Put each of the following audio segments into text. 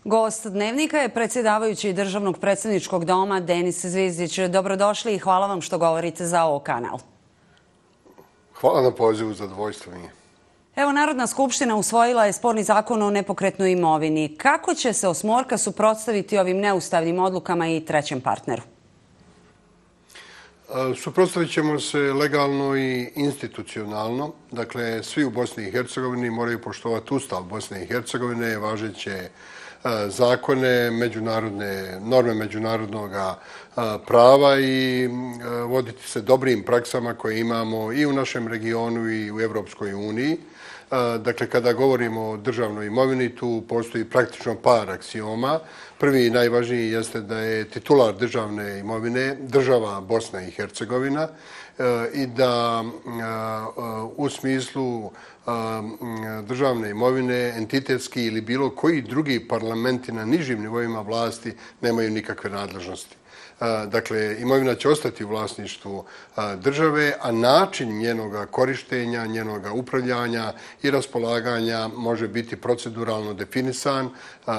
Gost Dnevnika je predsjedavajući Državnog predsjedničkog doma Denis Zvizdić. Dobrodošli i hvala vam što govorite za ovo kanal. Hvala na pozivu, zadovoljstvo mi je. Evo, Narodna skupština usvojila je sporni zakon o nepokretnoj imovini. Kako će se Osmorka suprotstaviti ovim neustavnim odlukama i trećem partneru? Suprotstavit ćemo se legalno i institucionalno. Dakle, svi u Bosni i Hercegovini moraju poštovati Ustav Bosne i Hercegovine, važeće zakone, međunarodne norme međunarodnog prava i voditi se dobrim praksama koje imamo i u našem regionu i u Europskoj uniji. Dakle, kada govorimo o državnoj imovini, tu postoji praktično par aksioma. Prvi i najvažniji jeste da je titular državne imovine država Bosna i Hercegovina i da u smislu državne imovine entitetski ili bilo koji drugi parlamenti na nižim nivoima vlasti nemaju nikakve nadležnosti. Dakle, imovina će ostati u vlasništvu države, a način njenoga korištenja, njenoga upravljanja i raspolaganja može biti proceduralno definisan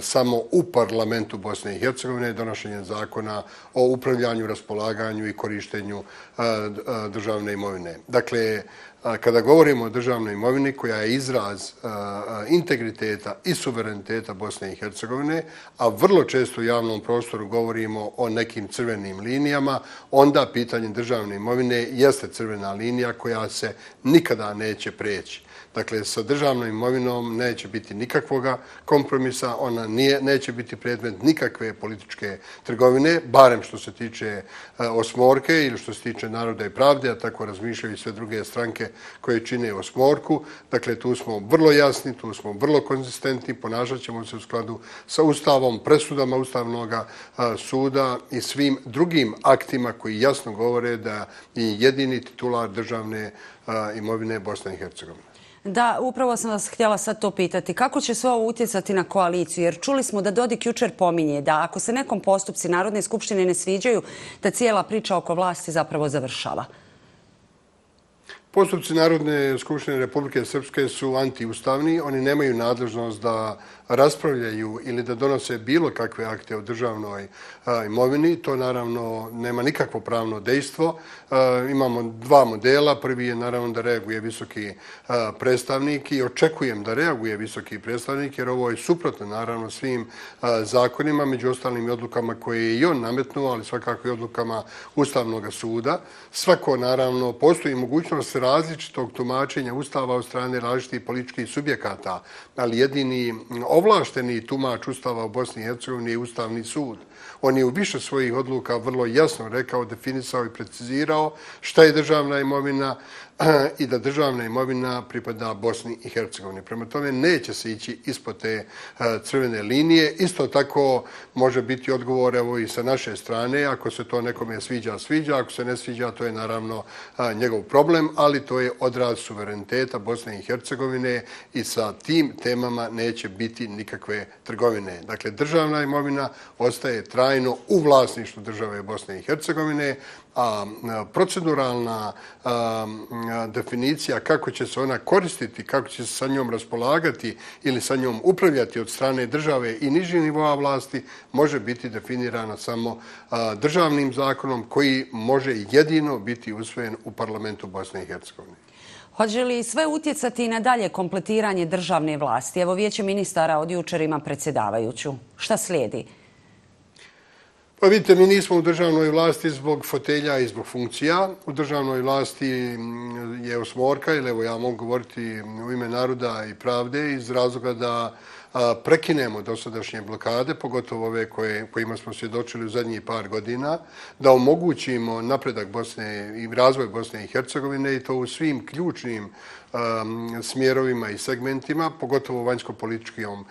samo u parlamentu Bosne i Hercegovine donošenjem zakona o upravljanju, raspolaganju i korištenju državne imovine. Dakle, kada govorimo o državnoj imovini koja je izraz integriteta i suvereniteta Bosne i Hercegovine, a vrlo često u javnom prostoru govorimo o nekim crvenim linijama, onda pitanje državne imovine jeste crvena linija koja se nikada neće preći. Dakle, sa državnom imovinom neće biti nikakvoga kompromisa, ona neće biti predmet nikakve političke trgovine, barem što se tiče Osmorke ili što se tiče Naroda i pravde, a tako razmišljaju i sve druge stranke koje čine Osmorku. Dakle, tu smo vrlo jasni, tu smo vrlo konzistentni, ponašat ćemo se u skladu sa Ustavom, presudama Ustavnog suda i svim drugim aktima koji jasno govore da je jedini titular državne imovine Bosna i Hercegovina. Da, upravo sam vas htjela sad to pitati. Kako će sve ovo utjecati na koaliciju? Jer čuli smo da Dodik jučer pominje da ako se nekom postupci Narodne skupštine ne sviđaju, da cijela priča oko vlasti zapravo završava. Postupci Narodne skupštine Republike Srpske su antiustavni. Oni nemaju nadležnost da raspravljaju ili da donose bilo kakve akte o državnoj imovini. To naravno nema nikakvo pravno dejstvo. Imamo dva modela. Prvi je naravno da reaguje visoki predstavnik i očekujem da reaguje visoki predstavnik jer ovo je suprotno naravno svim zakonima, među ostalim i odlukama koje je i on nametnuo, ali svakako i odlukama Ustavnog suda. Svako naravno postoji mogućnost različitog tumačenja Ustava od strane različitih političkih subjekata, ali jedini ovlašteni tumač Ustava u Bosni i Hercegovini je Ustavni sud. On je u više svojih odluka vrlo jasno rekao, definisao i precizirao šta je državna imovina i da državna imovina pripada Bosni i Hercegovini. Prema tome neće se ići ispod te crvene linije. Isto tako može biti odgovor evo i sa naše strane. Ako se to nekome sviđa, sviđa. Ako se ne sviđa, to je naravno njegov problem, ali to je odraz suvereniteta Bosne i Hercegovine i sa tim temama neće biti nikakve trgovine. Dakle, državna imovina ostaje trajno u vlasništvu države Bosne i Hercegovine, a proceduralna definicija kako će se ona koristiti, kako će se sa njom raspolagati ili sa njom upravljati od strane države i nižih nivoa vlasti može biti definirana samo državnim zakonom koji može jedino biti usvojen u parlamentu Bosne i Hercegovine. Hoće li sve utjecati na dalje kompletiranje državne vlasti? Evo, Vijeće ministara od jučer ima predsjedavajuću. Šta slijedi? Pa vidite, mi nismo u državnoj vlasti zbog fotelja i zbog funkcija. U državnoj vlasti je Osmorka, ili evo ja mogu govoriti u ime Naroda i pravde, iz razloga da prekinemo dosadašnje blokade, pogotovo ove kojima smo svjedočili u zadnjih par godina, da omogućimo napredak Bosne i razvoj Bosne i Hercegovine i to u svim ključnim smjerovima i segmentima, pogotovo u vanjsko-političkim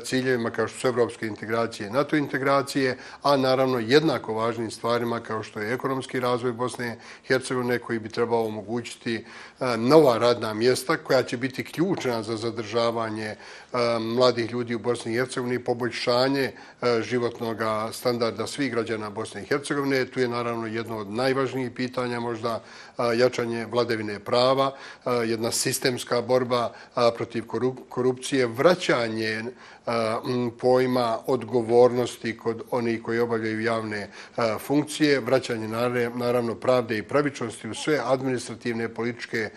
ciljevima kao što su evropske integracije i NATO integracije, a naravno jednako važnim stvarima kao što je ekonomski razvoj Bosne i Hercegovine koji bi trebao omogućiti nova radna mjesta koja će biti ključna za zadržavanje mladih ljudi u Bosni i Hercegovini, poboljšanje životnog standarda svih građana Bosne i Hercegovine. Tu je naravno jedno od najvažnijih pitanja možda jačanje vladavine prava, jedna sistemska borba protiv korupcije, vraćanje pojma odgovornosti kod onih koji obavljaju javne funkcije, vraćanje naravno pravde i pravičnosti u sve administrativne, političke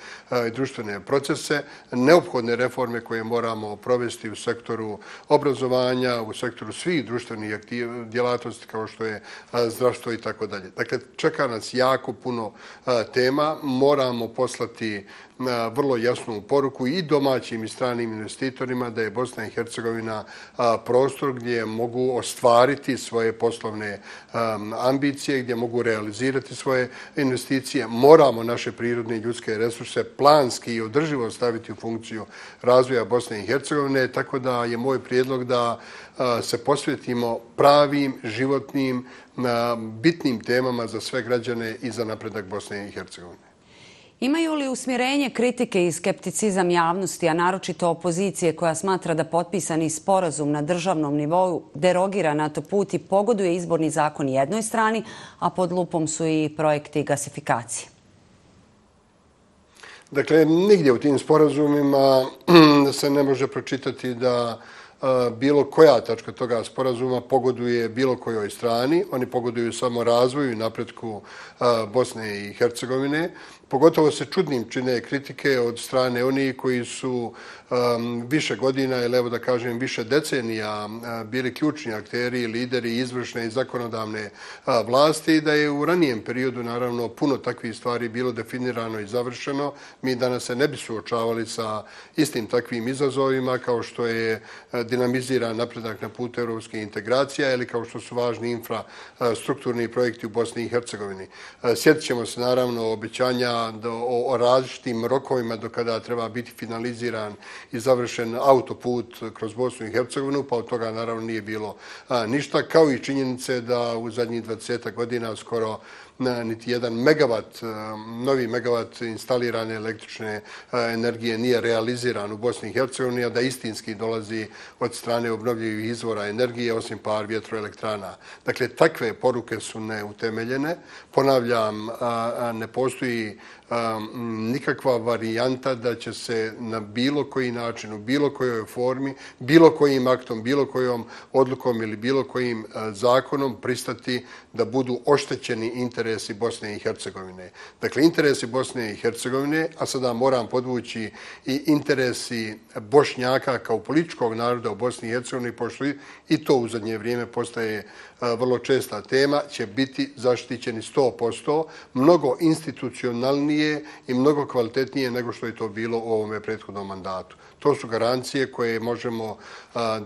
i društvene procese, neophodne reforme koje moramo provesti u sektoru obrazovanja, u sektoru svih društvenih djelatnosti kao što je zdravstvo i tako dalje. Dakle, čeka nas jako puno tema, moramo poslati vrlo jasnu poruku i domaćim i stranim investitorima da je Bosna i Hercegovina prostor gdje mogu ostvariti svoje poslovne ambicije, gdje mogu realizirati svoje investicije. Moramo naše prirodne i ljudske resurse planski i održivo staviti u funkciju razvoja Bosne i Hercegovine, tako da je moj prijedlog da se posvetimo pravim, životnim, bitnim temama za sve građane i za napredak Bosne i Hercegovine. Imaju li usmjerenje kritike i skepticizam javnosti, a naročito opozicije koja smatra da potpisani sporazum na državnom nivou derogira NATO put i pogoduje izborni zakon jednoj strani, a pod lupom su i projekti gasifikacije? Dakle, nigdje u tim sporazumima se ne može pročitati da bilo koja tačka toga sporazuma pogoduje bilo kojoj strani. Oni pogoduju samo razvoju i napretku Bosne i Hercegovine. Pogotovo se čudnim čine kritike od strane onih koji su više godina, ili evo da kažem više decenija, bili ključni akteri, lideri izvršne i zakonodavne vlasti i da je u ranijem periodu naravno puno takvih stvari bilo definirano i završeno. Mi danas se ne bi suočavali sa istim takvim izazovima kao što je dinamiziran napredak na putu europske integracija ili kao što su važni infrastrukturni projekti u Bosni i Hercegovini. Sjetit ćemo se naravno obećanja o različitim rokovima do kada treba biti finaliziran i završen autoput kroz Bosnu i Hercegovinu, pa od toga naravno nije bilo ništa, kao i činjenice da u zadnjih 20 godina skoro niti jedan novi megavat instalirane električne energije nije realiziran u Bosni i Hercegovini, a da istinski dolazi od strane obnovljivih izvora energije, osim par vjetroelektrana. Dakle, takve poruke su neutemeljene. Ponavljam, ne postoji nikakva varijanta da će se na bilo koji način, u bilo kojoj formi, bilo kojim aktom, bilo kojom odlukom ili bilo kojim zakonom pristati da budu oštećeni interesi Bosne i Hercegovine. Dakle, interesi Bosne i Hercegovine, a sada moram podvući i interesi Bošnjaka kao političkog naroda u Bosni i Hercegovini, pošto i to u zadnje vrijeme postaje vrlo česta tema, će biti zaštićeni 100%, mnogo institucionalnije i mnogo kvalitetnije nego što je to bilo u ovome prethodnom mandatu. To su garancije koje možemo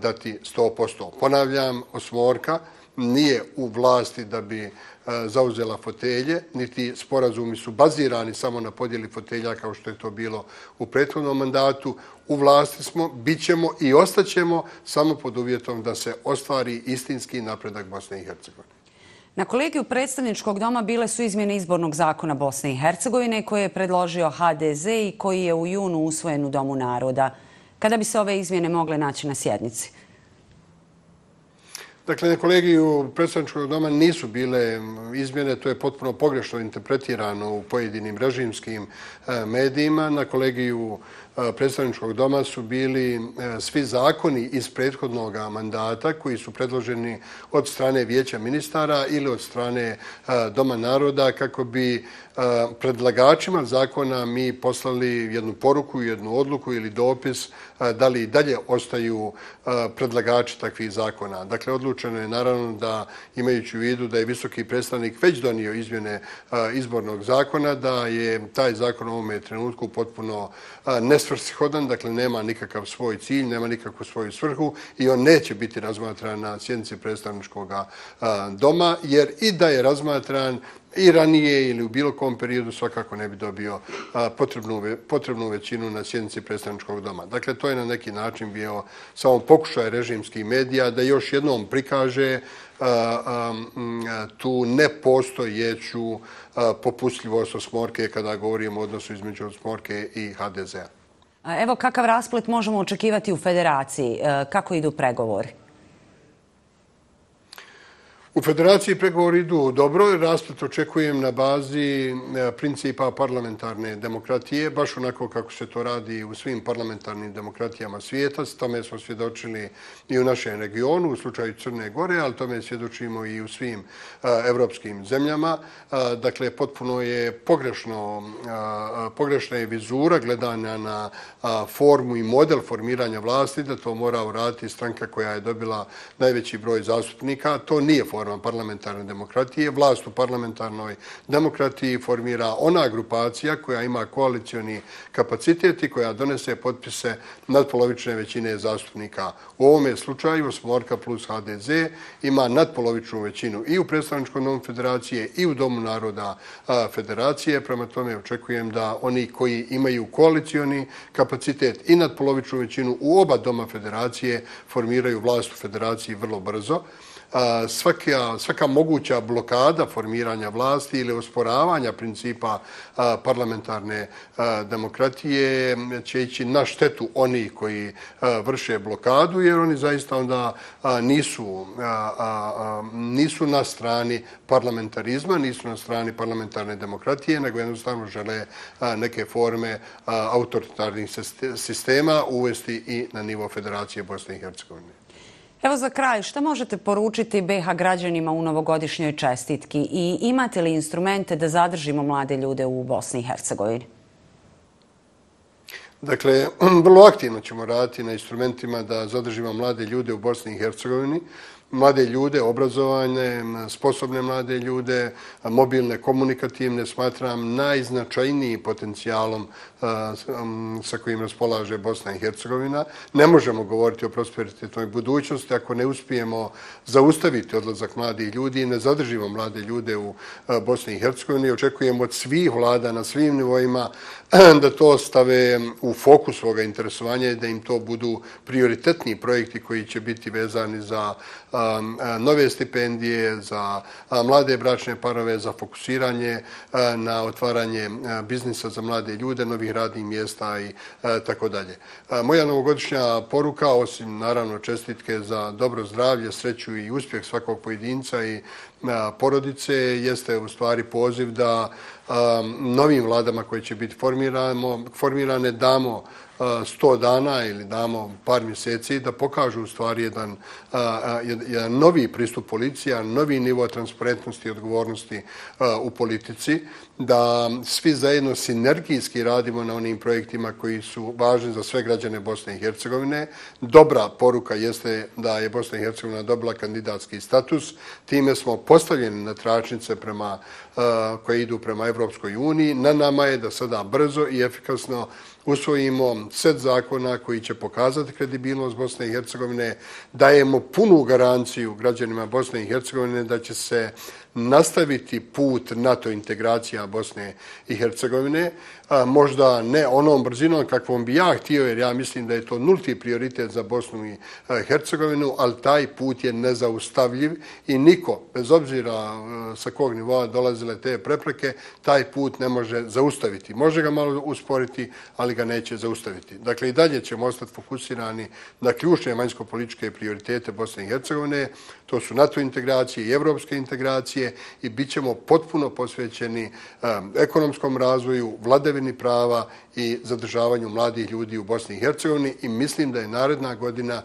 dati 100%. Ponavljam, osmorka nije u vlasti da bi zauzela fotelje, niti sporazumi su bazirani samo na podjeli fotelja kao što je to bilo u prethodnom mandatu. U vlasti smo, bit ćemo i ostaćemo samo pod uvjetom da se ostvari istinski napredak Bosne i Hercegovine. Na kolegiju predstavničkog doma bile su izmjene izbornog zakona Bosne i Hercegovine koje je predložio HDZ i koji je u junu usvojen u Domu naroda. Kada bi se ove izmjene mogle naći na sjednici? Dakle, na kolegiju predstavničkog doma nisu bile izmjene, to je potpuno pogrešno interpretirano u pojedinim režimskim medijima. Na kolegiju predstavničkog doma su bili svi zakoni iz prethodnog mandata koji su predloženi od strane Vijeća ministara ili od strane Doma naroda kako bi predlagačima zakona mi poslali jednu poruku, jednu odluku ili dopis da li i dalje ostaju predlagači takvih zakona. Dakle, odlučeno je naravno da, imajući u vidu da je visoki predstavnik već donio izmjene izbornog zakona, da je taj zakon u ovome trenutku potpuno nesvrsishodan, dakle nema nikakav svoj cilj, nema nikakvu svoju svrhu i on neće biti razmatran na sjednici predstavničkog doma, jer i da je razmatran i ranije ili u bilo kom periodu svakako ne bi dobio potrebnu većinu na sjednici predstavničkog doma. Dakle, to je na neki način bio samo pokušaj režimskih medija da još jednom prikaže tu nepostojeću popustljivost osmorke kada govorimo o odnosu između osmorke i HDZ-a. Evo kakav rasplet možemo očekivati u federaciji? Kako idu pregovori? U federaciji pregovori idu dobro, rasplet očekujem na bazi principa parlamentarne demokratije, baš onako kako se to radi u svim parlamentarnim demokratijama svijeta. Tome smo svjedočili i u našem regionu, u slučaju Crne Gore, ali tome svjedočimo i u svim evropskim zemljama. Dakle, potpuno je pogrešna je vizura gledanja na formu i model formiranja vlasti, da to mora uraditi stranka koja je dobila najveći broj zastupnika. To nije forma parlamentarne demokratije. Vlast u parlamentarnoj demokratiji formira ona grupacija koja ima koalicioni kapacitet i koja donese potpise nadpolovične većine zastupnika. U ovome slučaju Smorka plus HDZ ima nadpolovičnu većinu i u predstavničkom domu federacije i u Domu naroda federacije. Prema tome očekujem da oni koji imaju koalicioni kapacitet i nadpolovičnu većinu u oba doma federacije formiraju vlast u federaciji vrlo brzo. Svaka moguća blokada formiranja vlasti ili osporavanja principa parlamentarne demokratije će ići na štetu onih koji vrše blokadu, jer oni zaista onda nisu na strani parlamentarizma, nisu na strani parlamentarne demokratije, nego jednostavno žele neke forme autoritarnih sistema uvesti i na nivo Federacije Bosne i Hercegovine. Evo za kraj, šta možete poručiti BiH građanima u novogodišnjoj čestitki i imate li instrumente da zadržimo mlade ljude u Bosni i Hercegovini? Dakle, vrlo aktivno ćemo raditi na instrumentima da zadržimo mlade ljude u Bosni i Hercegovini. Mlade ljude, obrazovane, sposobne mlade ljude, mobilne, komunikativne, smatram najznačajnijim potencijalom sa kojim raspolaže Bosna i Hercegovina. Ne možemo govoriti o prosperitetnoj budućnosti ako ne uspijemo zaustaviti odlazak mladih ljudi i ne zadržimo mlade ljude u Bosni i Hercegovini. Očekujemo od svih vlada na svim nivoima da to stave u fokus svoga interesovanja i da im to budu prioritetni projekti koji će biti vezani za nove stipendije, za mlade bračne parove, za fokusiranje na otvaranje biznisa za mlade ljude, novih radnih mjesta i tako dalje. Moja novogodišnja poruka, osim naravno čestitke za dobro zdravlje, sreću i uspjeh svakog pojedinca i porodice, jeste u stvari poziv da novim vladama koje će biti formirane damo 100 dana ili damo par mjeseci da pokažu u stvari jedan novi pristup policija, novi nivo transparentnosti i odgovornosti u politici, da svi zajedno sinergijski radimo na onim projektima koji su važni za sve građane Bosne i Hercegovine. Dobra poruka jeste da je Bosna i Hercegovina dobila kandidatski status. Time smo postavljeni na tračnice koje idu prema Evropskoj uniji. Na nama je da sada brzo i efikasno usvojimo set zakona koji će pokazati kredibilnost Bosne i Hercegovine, dajemo punu garanciju građanima Bosne i Hercegovine da će se nastaviti put NATO integracija Bosne i Hercegovine, možda ne onom brzinom kakvom bi ja htio, jer ja mislim da je to nulti prioritet za Bosnu i Hercegovinu, ali taj put je nezaustavljiv i niko, bez obzira sa kog nivoa dolazile te prepreke, taj put ne može zaustaviti. Može ga malo usporiti, ali ga neće zaustaviti. Dakle, i dalje ćemo ostati fokusirani na ključne vanjsko-političke prioritete Bosne i Hercegovine. To su NATO integracije i evropske integracije i bit ćemo potpuno posvećeni ekonomskom razvoju, vladavini prava i zadržavanju mladih ljudi u Bosni i Hercegovini i mislim da je naredna godina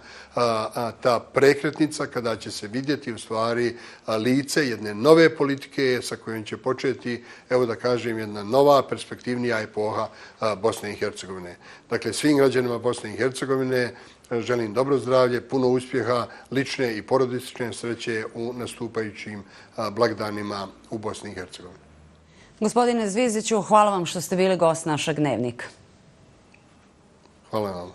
ta prekretnica kada će se vidjeti u stvari lice jedne nove politike sa kojom će početi, evo da kažem, jedna nova perspektivnija epoha Bosne i Hercegovine. Dakle, svim građanima Bosne i Hercegovine želim dobro zdravlje, puno uspjeha, lične i porodične sreće u nastupajućim blagdanima u Bosni i Hercegovini. Gospodine Zvizdiću, hvala vam što ste bili gost našeg Dnevnika. Hvala vam.